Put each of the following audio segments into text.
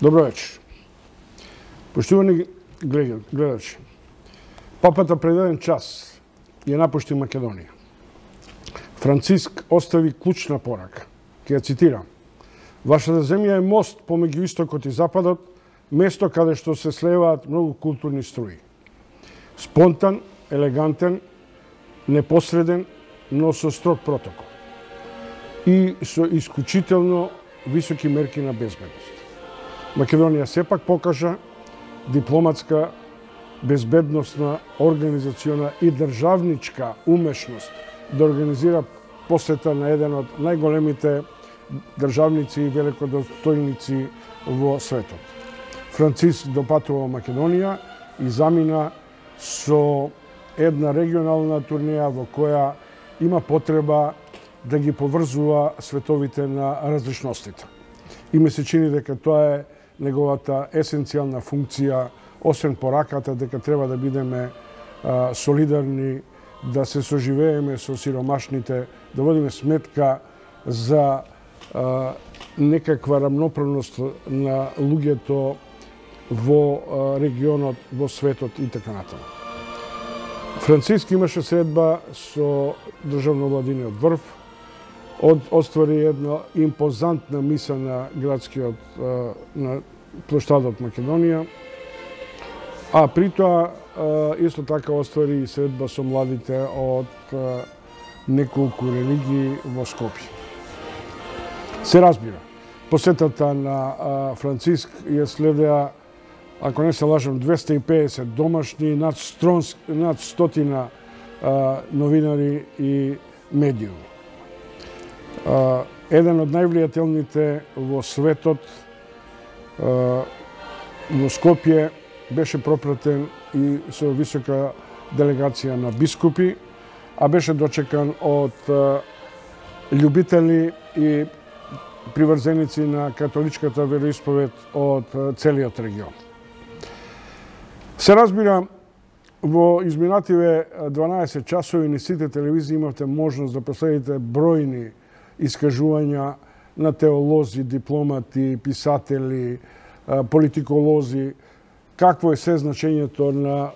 Добро вечер. Поштувани гледачи, папата пред еден час ја напушти Македонија. Франциск остави клучна порака. Ќе ја цитирам. Вашата земја е мост помеѓу истокот и западот, место каде што се слеваат многу културни струи. Спонтан, елегантен, непосреден, но со строг протокол. И со исклучително високи мерки на безбедност. Македонија сепак покажа дипломатска, безбедносна, организациона и државничка умешност да организира посета на еден од најголемите државници и великодостојници во светот. Франциск допатува Македонија и замина со една регионална турнеја во која има потреба да ги поврзува световите на различностите. И ми се чини дека тоа е неговата есенцијална функција, освен пораката дека треба да бидеме солидарни, да се соживееме со сиромашните, да водиме сметка за некаква рамноправност на луѓето во регионот, во светот и така натаму. Франциск имаше средба со државновладиниот врв, оствари една импозантна миса на градскиот на плоштадот Македонија, а при тоа исто така оствари и средба со младите од неколку религии во Скопје. Се разбира, посетата на Франциск ја следеа, ако не се лажам, 250 домашни, над 100 новинари и медиуми. Еден од највлијателните во светот во Скопје беше пропратен и со висока делегација на бискупи, а беше дочекан од љубители и приврзеници на католичката вероисповед од целиот регион. Се разбира, во изминативе 12 часови на сите телевизии имавте можност да последите бројни искажувања на теолози, дипломати, писатели, политиколози, какво е се значењето на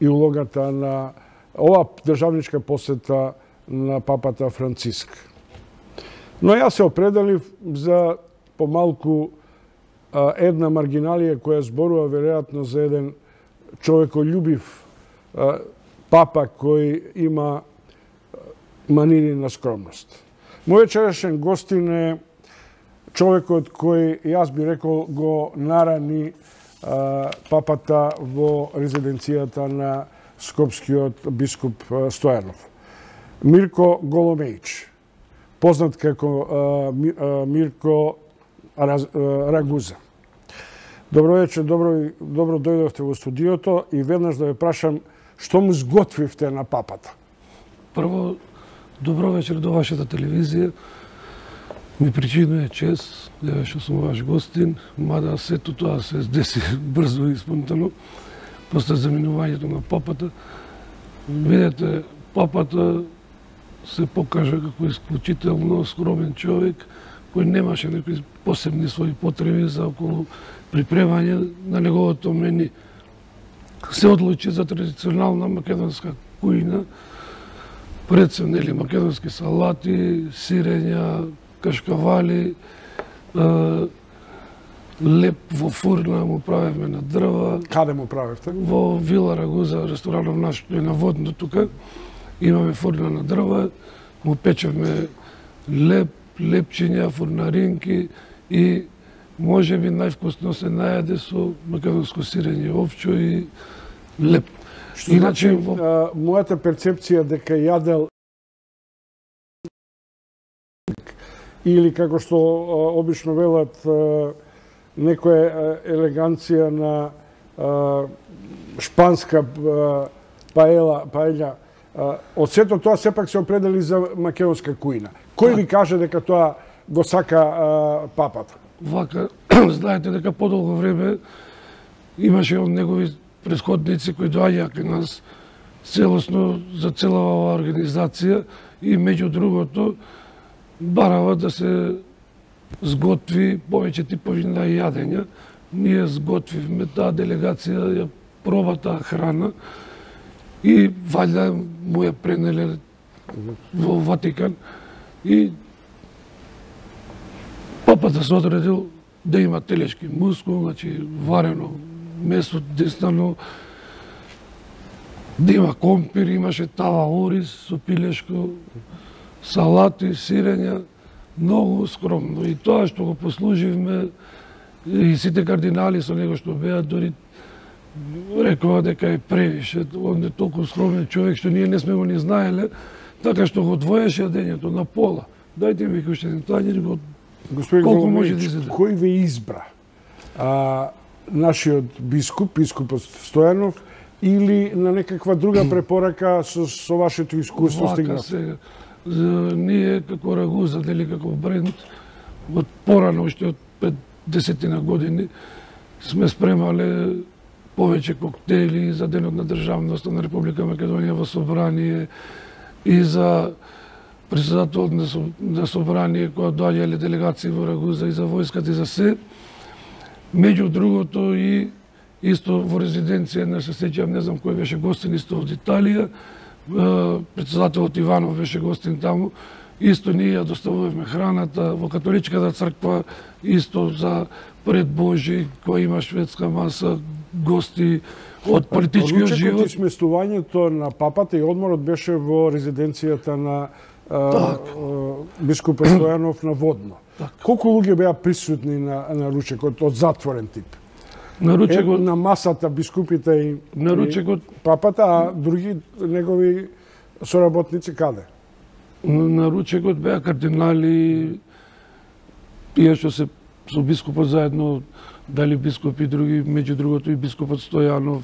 и улогата на ова државничка посета на папата Франциск. Но јас се определив за помалку една маргиналија која зборува веројатно за еден човекољубив папа кој има манири на скромност. Мој вечерашен гостин е човекот кој, јас би рекол, го нарани папата во резиденцијата на скопскиот бискуп Стојанов. Мирко Голомеич, познат како Мирко Рагуза. Добро вечер, добро дојдовте во студиото и веднаш да ве прашам што му сготвивте на папата. Прво, добро вечер до вашата телевизија. Ми причинува чест да што сум ваш гостин, мада сето тоа се деси брзо и спонтано, после заминувањето на папата. Видете, папата се покажа како исклучително скромен човек, кој немаше некои посебни своји потреби за околу припремање на неговото мени. Се одлучи за традиционална македонска кујна, предсем нели македонски салати, сирења, кашкавали, леп во фурна му правевме на дрва. Каде му правевте? Во Вила Рагуза, ресторанов наш е на водно тука. Имаме фурна на дрва, му печевме леп, лепчиња, фурнаринки и може би највкусно се најаде со македонско сирење, овчо и леп. Што иначе, мојата перцепција дека јадел или како што обично велат некоја елеганција на шпанска паеља, од сето тоа сепак се определи за македонска кујна. Кој ви каже дека тоа го сака папата? Вака, знаете дека подолго време имаше од негови претходници кои доаѓаа кај нас целосно за цела оваа организација и меѓу другото барава да се сготви повеќе типови на јадења, ние сготвивме таа делегација, ја проба таа храна и ваljda му ја пренеле во Ватикан и папата се одредил да има телешки мускул, значи варено месо деснано, да има компир, имаше тава ориз со пилешко, салати, сирења, многу скромно. И тоа што го послуживме, и сите кардинали со него што беа, дори рекоа дека е превише, он е толку скромен човек што ние не сме го ни знаеле, така што го двоеше јадењето на пола. Дајте ми уште еден тањер, колку може да изеде. Кој ве избра? Нашиот бискупот Стојанов, или на некаква друга препорака со вашето искуство стигнат? Сега, ние како Рагуза, дали како бренд, од порано, уште од 50 години, сме спремале повеќе коктели за Денот на државноста на Република Македонија во собрание и за председателот на собрание која доаѓале делегации во Рагуза и за војската и за се. Меѓу другото и исто во резиденција, не се сеќавам, не знам кој беше гостин, исто од Италија, председателот Иванов беше гостин таму, исто ние ја доставувавме храната во католичката црква, исто за пред Божи, која има шведска маса, гости од политичкиот живот. Ручекот и сместувањето на папата и одморот беше во резиденцијата на бискупот Стојанов на Водно. Колку луѓе беа присутни на ручекот од затворен тип? На ручекот на масата бискупите и на ручекот папата, а други негови соработници каде? На ручекот беа кардинали, тие што се со бискупот заедно, дали бискупи други, меѓу другото и бискупот Стојанов,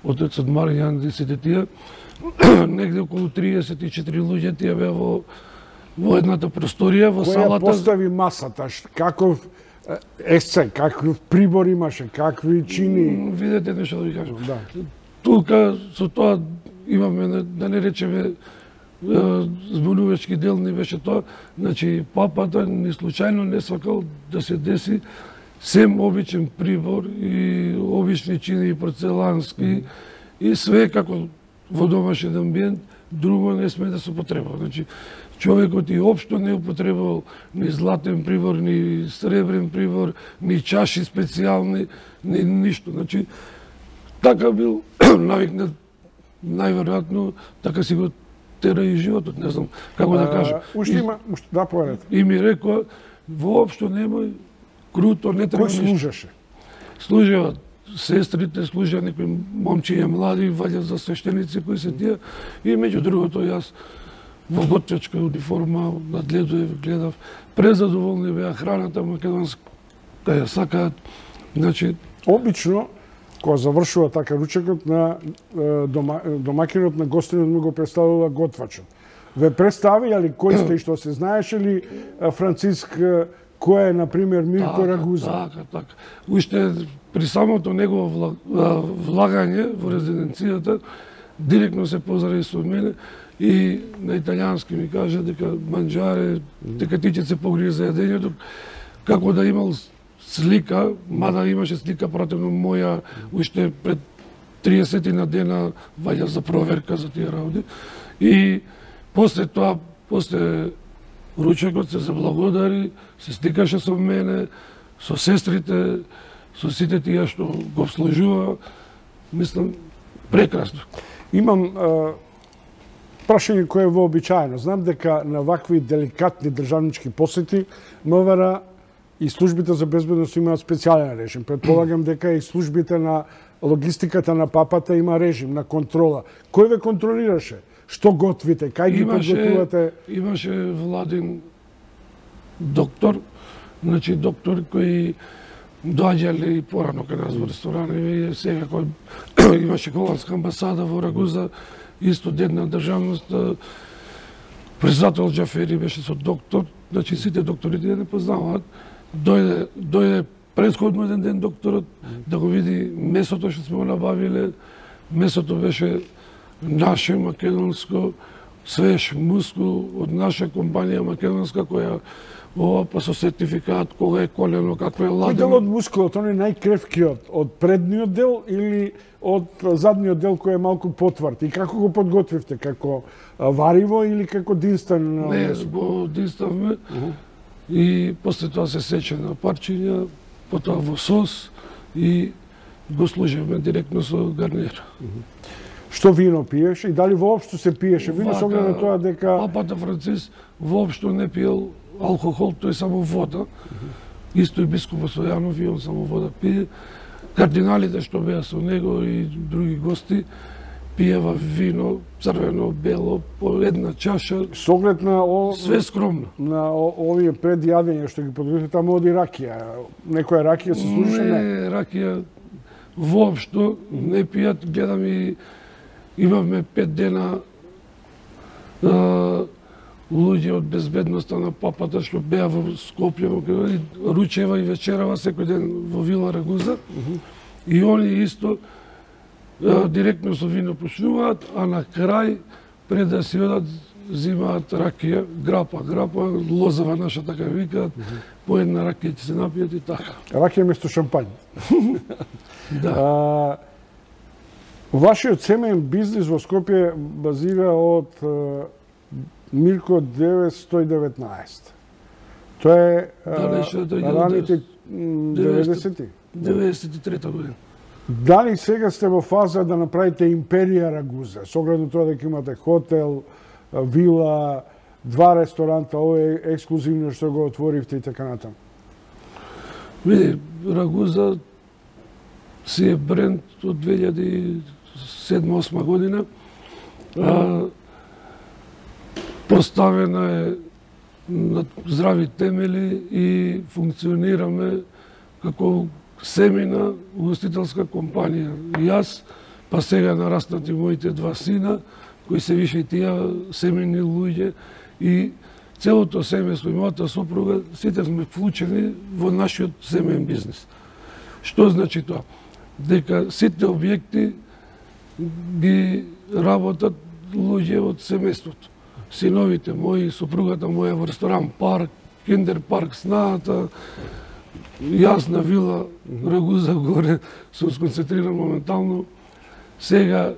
отецот Маријан, сите тие, негде околу 34 луѓе тие беа во едната просторија, во салата. Која постави масата? Каков есце, каков прибор имаше, какви чини? Видете нешто да ви кажам. Да. Тука со тоа имаме, да не речеме, збунувачки делни беше тоа, значи папата ни случајно не сакал да се деси сем обичен прибор и обични чини порцелански и све како во домашен амбиент, друго не сме да се употребува. Значи, човекот и општо не употребувал ни златен прибор, ни сребрен прибор, ни чаши специјални, ни ништо. Значи, така бил навикнат, најверојатно, така си го тера и животот, не знам како да кажам. Уште има, да, поверете. И ми рекоа, воопшто немој круто, не треба ништо. Кој служеше? Служеа сестрите, служеа некои момчиња млади, ваѓа за свештеници кои се тие. И меѓу другото јас во готвечка униформа надгледував, гледав. Презадоволни беа храната македонска, ја сакаат. Значи, обично кога завршува така ручекот на домакинот на гостинот му го представува готвачот. Ве представија ли кој сте и што се знаеше ли Франциск, кој е, например, Мирко Рагуза? Така. Уште при самото негово влагање во резиденцијата, директно се поздрав со мене и на италијански ми кажа дека манџаре, дека ти ќе се погрижи за јадењето, како да имал слика, мада имаше слика пратено моја уште пред 30 на дена ваѓа за проверка за тие работи. И после тоа, после ручекот се заблагодари, се стикаше со мене, со сестрите, со сите тие што го обслужува. Мислам, прекрасно. Имам прашање кое е вообичаено. Знам дека на вакви деликатни државнички посети МВР и службите за безбедност имаат специјален режим. Предполагам дека и службите на логистиката на папата има режим на контрола. Кој ве контролираше? Што готвите? Кај ги подготвувате? Имаше владин доктор, значи доктор кој доаѓале и порано кај нас во ресторани, сега кој имаше холандска амбасада во Рагуза, исто ден на државност, председател Џафери беше со доктор, значи сите докторите не познаваат. Дојде претходно еден ден докторот да го види месото што сме го набавиле. Месото беше наше, македонско, свеж мускул од наша компанија македонска која ова па со сертификат кога е колено, како е ладено. Кој дел од мускулот, он е најкревкиот, од предниот дел или од задниот дел кој е малку потврд? И како го подготвивте? Како вариво или како динстен? Не, го динставме и после тоа се сече на парчиња, потоа во сос и го служевме директно со гарнир. Што вино пиеше и дали воопшто се пиеше вино со оглед на тоа дека Папата Франциск воопшто не пиел алкохол, тој само вода. Исто и бискупот Стојанов и он само вода пие. Кардиналите што беа со него и други гости пиева вино, црвено, бело, по една чаша. Со оглед на све скромно. На овие предјадења што ги подготвите, таму оди ракија. Некоја ракија се служише? Не, ракија воопшто не пијат. Гледам и имавме 5 дена луѓе од безбедноста на папата што беа во Скопје, ручева и вечерава секој ден во Вила Рагуза. И они исто директно со вино почнуваат, а на крај, пред да си одат, зимаат ракија, грапа, лозава наша така викаат, по една ракија ќе се напијат и така. Ракија место шампањ. Да. Вашиот семеен бизнис во Скопје базира од Мирко 919. Тоа е раните 90-ти? 93-та година. Дали сега сте во фаза да направите империја Рагуза? Со оглед на тоа дека имате хотел, вила, 2 ресторанта, ова е ексклузивно што го отворивте и така натаму. Види, Рагуза си е бренд од 2007-2008 година. Поставена е на здрави темели и функционираме како семена угостителска компанија. Јас, па сега нараснати моите 2 сина, кои се више и тие семени луѓе и целото семејство и мојата сопруга, сите сме вклучени во нашиот семеен бизнис. Што значи тоа? Дека сите објекти ги работат луѓе од семејството. Синовите мои, сопругата моја во ресторан парк, киндер парк снаата, јас на вила Рагуза горе сум сконцентриран моментално. Сега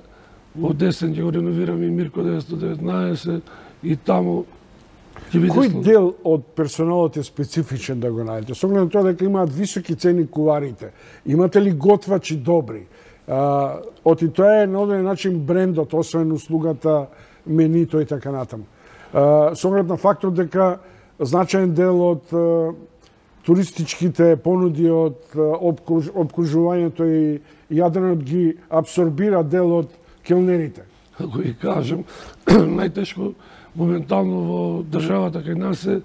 во десен ќе го реновираме и Мирко 919 и таму ќе биде. Кој дел од персоналот е специфичен да го најдете? Со оглед на тоа дека имаат високи цени куварите, имате ли готвачи добри? Оти тоа е на одреден начин брендот, освен услугата, менито и така натаму. Со оглед на фактот дека значаен дел од туристичките понуди од обкружувањето и Јадранот ги абсорбира дел од келнерите. Ако ви кажам, најтешко моментално во државата кај нас е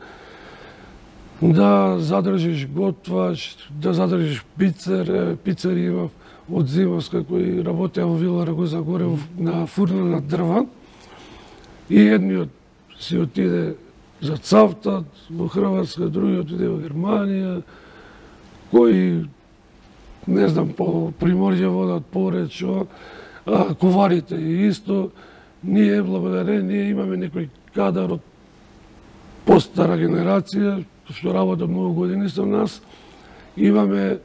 да задржиш готвач, да задржиш пицер, пицери имав од Зимовска кој работеа во Вила Рагуза горе на фурна на дрва. И едниот си отиде за Цавтат во Хрватска, другиот отиде во Германија, кои, не знам, по Приморје водат пореч, коварите и исто. Ние, благодарение, ние имаме некој кадар од постара генерација, што работа многу години со нас. Имаме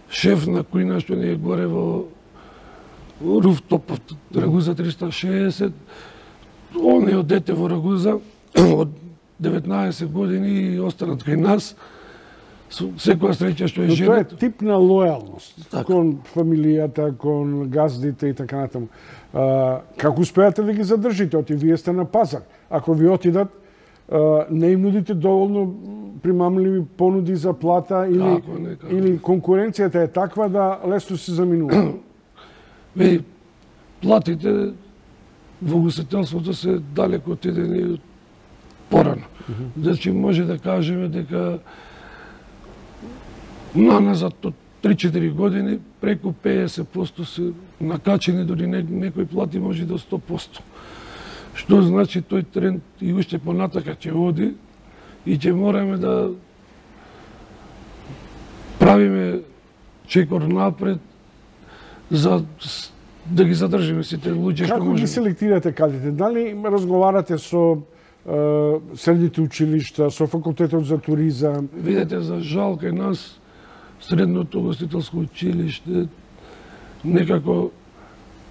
шеф на кујна што не е горе во руфтоп Рагуза 360. Он е од дете во Рагуза од 19 години и останат кај нас. Секоја среќа што е женет. Тоа е тип на лојалност так, кон фамилијата, кон газдите и така натаму. Како успеате да ги задржите? Оти вие сте на пазар. Ако ви отидат, не им нудите доволно примамливи понуди за плата или конкуренцијата е таква да лесно се заминува? Веј, платите во угостителството се далеко отидени од порано. Значи може да кажеме дека наназад од 3-4 години преку 50% се накачени, дори некои плати може до 100%. Што значи тој тренд и уште понатака ќе оди и ќе мораме да правиме чекор напред за да ги задржиме сите луѓе што Како ги можеме. селектирате кадрите? Дали разговарате со средните училишта, со факултетот за туризам? Видете, за жал кај нас средното гостителско училиште некако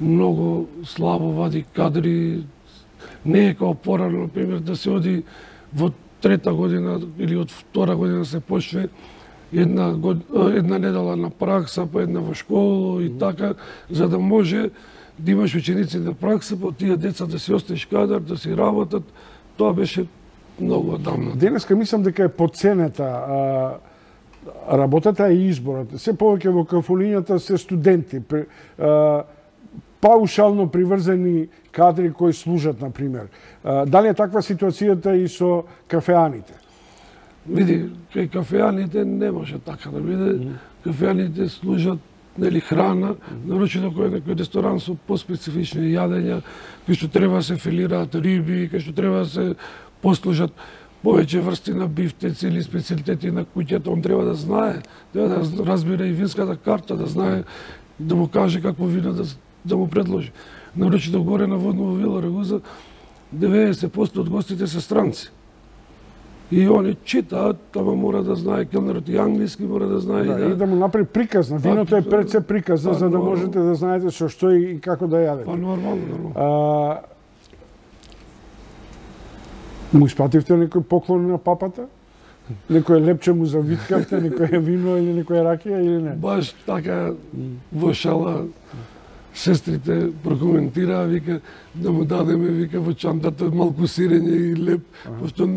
многу слабо вади кадри. Не е као порано, например, да се оди во трета година или од втора година се почне една недела на пракса, па една во школа и така, за да може да имаш ученици на пракса, па тие деца да си остеш кадар, да си работат. Тоа беше многу одамна. Денеска мислам дека е подценета работата и изборот. Се повеќе во кафулињата се студенти, паушално приврзани кадри кои служат, например. Дали е таква ситуацијата и со кафеаните? Види, кај кафеаните не може така да биде. Кафеаните служат нели храна, нарочито кој некој ресторан со поспецифични јадења, кои што треба да се филираат риби, кои што треба да се послужат повеќе врсти на бифтеци или специјалитети на куќата, он треба да знае, треба да разбира и винската карта, да знае, да му каже какво вино да му предложи. Нарочито горе на Водново вила Рагуза, 90% од гостите се странци. И они читаат, ама мора да знае келнерот и англиски, мора да знае и да му направи приказна. Виното е пред се приказна, за да можете да знаете со што и како да јадете. Па нормално. Му испративте некој поклон на папата? Некој лепче му завиткавте, некој вино или некој ракија или не? Баш така во шала сестрите прокоментираа, вика, да му дадеме, вика, во чантата малку сирење и леп, пошто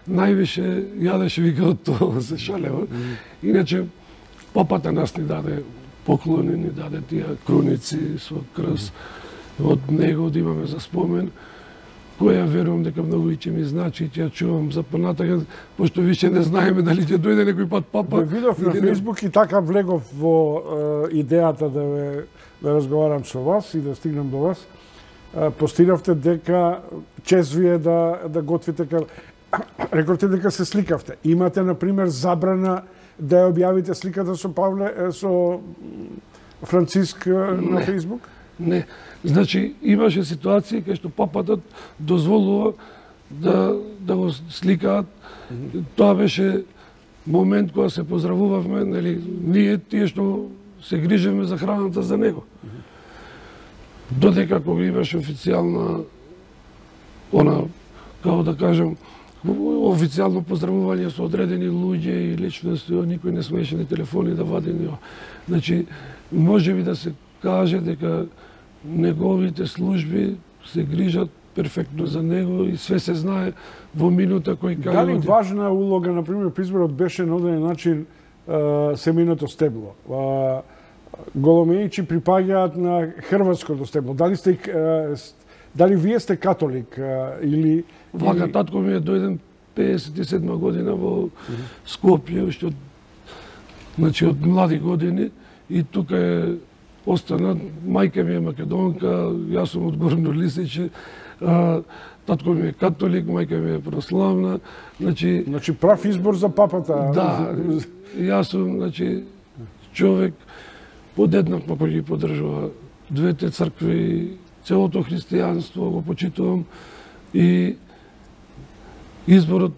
највише јадеше, вика, од тоа се шалева. Иначе, папата нас ни даде поклони, ни даде тие круници со крст од него да имаме за спомен, која верувам дека многу и ќе ми значи и ќе ја чувам за понатака, пошто више не знаеме дали ќе дојде некој пат папа. Видов на Фејсбук и така влегов во идејата да разговарам со вас и да стигнам до вас. Постиравте дека чест ви е да готвите рековте дека се сликавте. Имате, например, забрана да ја објавите сликата со Франциск на Фејсбук? Не. Значи, имаше ситуации кај што папатот дозволува да го сликаат. Тоа беше момент кога се поздравувавме, нели, ние тие што се грижиме за храната за него. Додека кога имаше официјална како да кажам, официјално поздравување со одредени луѓе и личности, никој не смееше ни телефони да вади ни. Значи, можеби да се каже дека неговите служби се грижат перфектно за него и све се знае во минута кој кај Дали важна улога, например, при изборот беше на одреден начин семејното стебло? Голомејчи припаѓаат на хрватското стебло. Дали вие сте католик или Вака, татко ми е дојден 57 година во Скопје, уште од млади години, и тука е остана. Мајка ми е македонка, јас сум од Горно Лисиче, татко ми е католик, мајка ми е православна. Значи прав избор за папата. Да, јас сум, човек подеднакво кој ги поддржува двете цркви, целото христијанство го почитувам, и изборот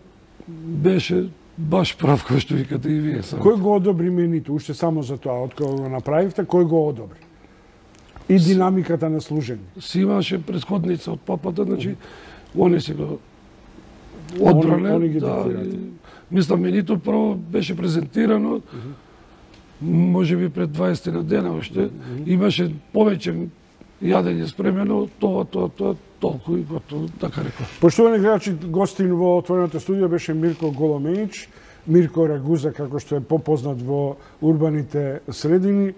беше баш прав, кој што викате и вие. Кој го одобри менито, уште само за тоа, од кога го направивте, кој го одобри? И динамиката на служење. Си имаше претходница од папата, они се го одбрале. Мислам, менито прво беше презентирано, може би пред 20 на дена уште. Имаше повеќе јадење спремено, тоа, толку и готово, така реков. Поштовани гледачи, гостин во отвореното студио беше Мирко Голомејич, Мирко Рагуза, како што е попознат во урбаните средини,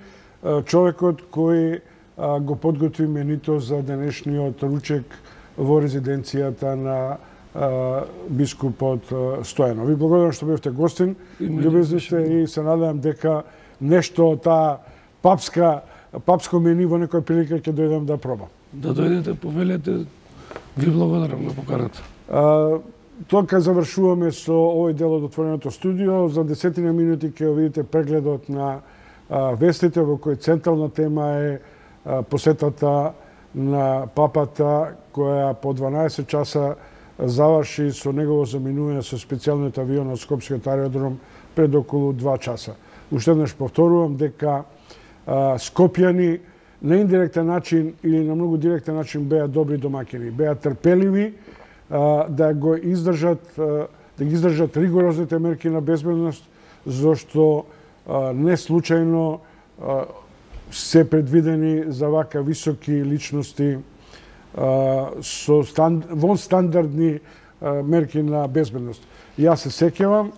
човекот кој го подготви менито за денешниот ручек во резиденцијата на бискупот Стојанов. Ви благодарам што бевте гостин, љубезни сте и се надевам дека нешто од таа папско мени во некоја прилика ќе дојдам да пробам. Да дојдете, повелете, ви благодарам на поканата. Тоа завршуваме со овој дел од отвореното студио. За 10 минути ќе видите прегледот на вестите во кој централна тема е посетата на папата, која по 12 часа заврши со негово заминување со специјалниот авион од Скопскиот аеродром пред околу 2 часа. Уште еднаш повторувам дека скопјани на индиректен начин или на многу директен начин беа добри домакини, беа трпеливи да ги издржат ригорозните мерки на безбедност, зашто не случајно се предвидени за вака високи личности со вон стандардни мерки на безбедност. Јас се сеќавам,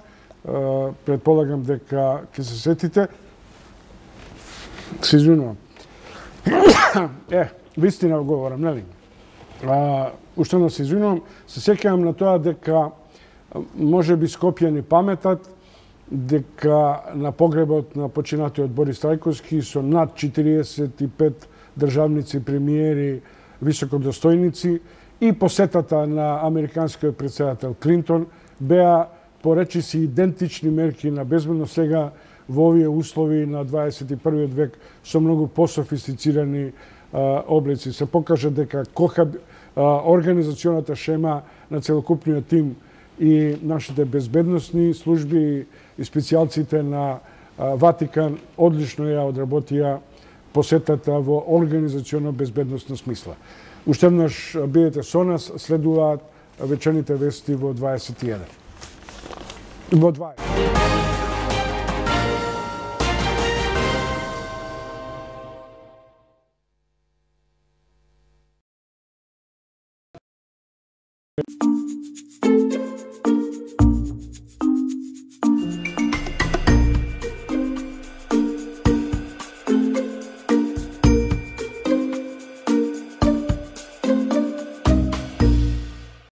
предполагам дека ќе се сетите, се извинувам. Вистина говорам, нели? Уште не се извинувам, се сеќавам на тоа дека може би скопјани паметат дека на погребот на починатиот Борис Трајковски со над 45 државници, премиери, високодостојници и посетата на американскиот претседател Клинтон беа поречиси идентични мерки на безбедност сега во овие услови на 21. век со многу пософистицирани облици. Се покажа дека организационата шема на целокупниот тим и нашите безбедносни служби и специјалците на Ватикан одлично ја одработија посетата во организационно безбедносна смисла. Уште еднаш бидете со нас, следуваат вечерните вести во 21. Во 20.